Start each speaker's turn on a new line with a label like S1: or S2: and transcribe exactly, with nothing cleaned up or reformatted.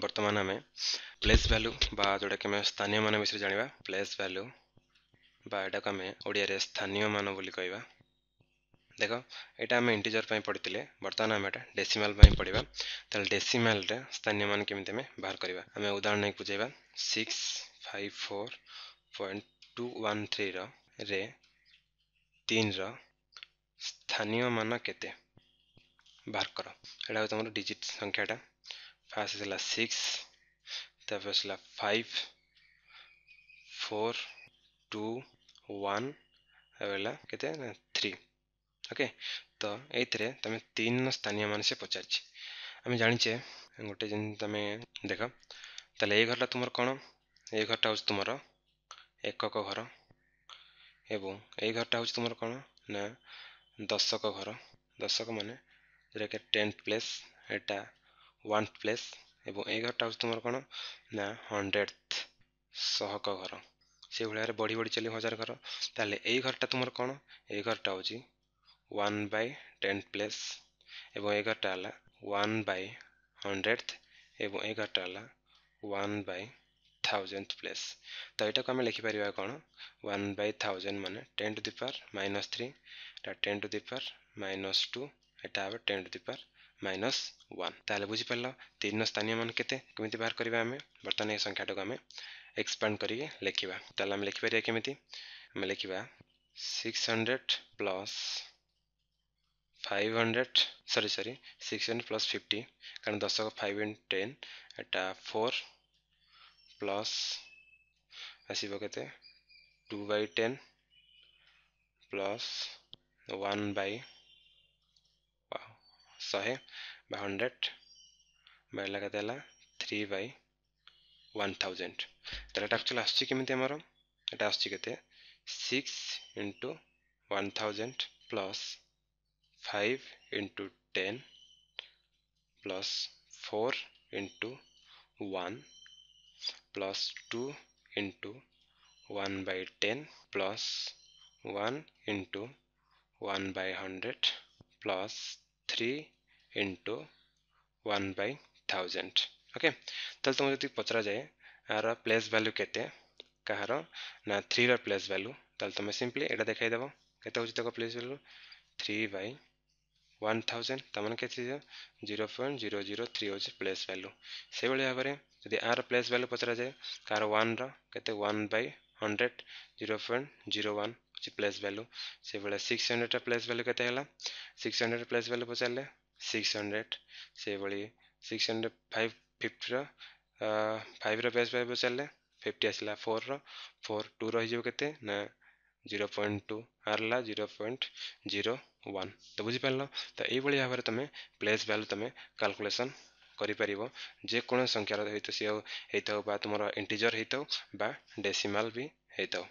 S1: ବର୍ତ୍ତମାନ ଆମେ place value ବା ଯେଉଁଟାକି ଆମେ ସ୍ଥାନୀୟ ମାନ ବିଷୟରେ ଜାଣିବା। ପ୍ଲେସ୍ ଭ୍ୟାଲୁ ବା ଏଟାକୁ ଆମେ ଓଡ଼ିଆରେ ସ୍ଥାନୀୟ ମାନ ବୋଲି କହିବା। ଦେଖ, ଏଇଟା ଆମେ ଇଣ୍ଟିଜର ପାଇଁ ପଢ଼ିଥିଲେ, ବର୍ତ୍ତମାନ ଆମେ ଏଇଟା ଡେସିମାଲ ପାଇଁ ପଢ଼ିବା। ତାହେଲେ ଡେସିମାଲରେ ସ୍ଥାନୀୟ ମାନ କେମିତି ଆମେ ବାହାର କରିବା, ଆମେ ଉଦାହରଣ ନେଇକି ବୁଝେଇବା। Six five four point two one ଥ୍ରୀର ରେ ତିନିର ସ୍ଥାନୀୟ ମାନ କେତେ ବାହାର କର। ଏଇଟା ହେଉଛି ତୁମର ଡିଜିଟ୍ ସଂଖ୍ୟାଟା। ଫାର୍ଷ୍ଟ ଆସିଲା ସିକ୍ସ, ତାପରେ ଆସିଲା ଫାଇଭ୍, ଫୋର୍, ଟୁ, ୱାନ୍, ଆଉ ହେଲା କେତେ ନା ଥ୍ରୀ। ଓକେ, ତ ଏଇଥିରେ ତୁମେ ତିନିର ସ୍ଥାନୀୟ ମାନ ସେ ପଚାରିଛି। ଆମେ ଜାଣିଛେ ଗୋଟେ ଯେମିତି ତମେ ଦେଖ, ତାହେଲେ ଏଇ ଘରଟା ତୁମର କ'ଣ? ଏଇ ଘରଟା ହେଉଛି ତୁମର ଏକକ ଘର, ଏବଂ ଏଇ ଘରଟା ହେଉଛି ତୁମର କ'ଣ ନା ଦଶକ ଘର। ଦଶକ ମାନେ ଯେଉଁଟାକି ଟେନ୍ଥ ପ୍ଲେସ୍, ଏଇଟା ୱାନ୍ ପ୍ଲେସ୍, ଏବଂ ଏଇ ଘରଟା ହେଉଛି ତୁମର କ'ଣ ନା ହଣ୍ଡ୍ରେଡ୍ ଶହକ ଘର। ସେଇଭଳି ଭାବରେ ବଢ଼ି ବଢ଼ି ଚାଲିବ ହଜାର ଘର। ତାହେଲେ ଏଇ ଘରଟା ତୁମର କ'ଣ? ଏଇ ଘରଟା ହେଉଛି ୱାନ୍ ବାଇ ଟେନ୍ଥ ପ୍ଲେସ୍, ଏବଂ ଏଇ ଘରଟା ହେଲା ୱାନ୍ ବାଇ ହଣ୍ଡ୍ରେଡ୍, ଏବଂ ଏଇ ଘରଟା ହେଲା ୱାନ୍ ବାଇ ଥାଉଜେଣ୍ଡ ପ୍ଲେସ୍। ତ ଏଇଟାକୁ ଆମେ ଲେଖିପାରିବା କ'ଣ? ୱାନ୍ ବାଇ ଥାଉଜେଣ୍ଡ ମାନେ ten to the power minus three, ଏଇଟା ten to the power minus two, ଏଇଟା ହେବ ten to the power minus one. ତାହେଲେ ବୁଝିପାରିଲ ତିନିର ସ୍ଥାନୀୟ ମାନ କେତେ, କେମିତି ବାହାର କରିବା ଆମେ। ବର୍ତ୍ତମାନ ଏ ସଂଖ୍ୟାଟାକୁ ଆମେ ଏକ୍ସପାଣ୍ଡ କରିକି ଲେଖିବା। ତାହେଲେ ଆମେ ଲେଖିପାରିବା କେମିତି? ଆମେ ଲେଖିବା six hundred plus five hundred, sorry sorry six hundred plus fifty, କାରଣ ଦଶକ ଫାଇଭ୍ ଇଣ୍ଟୁ ଟେନ୍, ଏଟା ଫୋର୍ ପ୍ଲସ୍ ଆସିବ କେତେ two by ten plus one by ଶହେ ବା ହଣ୍ଡ୍ରେଡ଼ ବା ହେଲା କେତେ ହେଲା ଥ୍ରୀ ବାଇ ୱାନ୍ ଥାଉଜେଣ୍ଡ। ତାହେଲେ ଏଟା ଆକ୍ଚୁଆଲି ଆସୁଛି କେମିତି ଆମର? ଏଟା ଆସୁଛି କେତେ six into one thousand plus five into ten plus four into one plus two into one by ten plus one into one by hundred plus three into one by thousand. Okay, ତାହେଲେ ତୁମକୁ ଯଦି ପଚରାଯାଏ ଆର place value କେତେ, କାହାର ନା ଥ୍ରୀର place value, ତାହେଲେ ତୁମେ simply ଏଇଟା ଦେଖାଇଦେବ। କେତେ ହେଉଛି ତାକୁ place value? Three by one thousand, ତାମାନେ କେତେ ହେଇଯିବ zero point zero zero three ହେଉଛି ପ୍ଲେସ୍ ଭ୍ୟାଲୁ। ସେଇଭଳି ଭାବରେ ଯଦି ଆର ପ୍ଲେସ୍ ଭ୍ୟାଲୁ ପଚରାଯାଏ, କାହାର ୱାନ୍ର କେତେ one by hundred zero point zero one ହେଉଛି ପ୍ଲେସ୍ ଭ୍ୟାଲୁ। ସେଇଭଳିଆ ସିକ୍ସ ହଣ୍ଡ୍ରେଡ଼ର ପ୍ଲେସ୍ ଭ୍ୟାଲୁ କେତେ ହେଲା? ସିକ୍ସ ହଣ୍ଡ୍ରେଡ଼ ପ୍ଲେସ୍ ଭ୍ୟାଲୁ ପଚାରିଲେ ସିକ୍ସ ହଣ୍ଡ୍ରେଡ଼। ସେଇଭଳି ସିକ୍ସ ହଣ୍ଡ୍ରେଡ଼ ଫାଇଭ୍ ଫିଫ୍ଟିର ଫାଇଭ୍ର ପ୍ଲେସ୍ ଭ୍ୟାଲୁ ପଚାରିଲେ ଫିଫ୍ଟି ଆସିଲା, ଫୋର୍ର ଫୋର୍ ଟୁ ରହିଯିବ କେତେ ନା ଜିରୋ ପଏଣ୍ଟ ଟୁ, ଆର ହେଲା ଜିରୋ ପଏଣ୍ଟ ଜିରୋ ୱାନ୍। ତ ବୁଝିପାରିଲ? ତ ଏଇଭଳି ଭାବରେ ତୁମେ ପ୍ଲେସ୍ ଭ୍ୟାଲୁ ତୁମେ କାଲକୁଲେସନ୍ କରିପାରିବ, ଯେକୌଣସି ସଂଖ୍ୟାର ହେଇଥାଉ ସିଏ ହେଇଥାଉ ବା ତୁମର ଇଣ୍ଟିଜର ହେଇଥାଉ ବା ଡେସିମାଲ ବି ହେଇଥାଉ।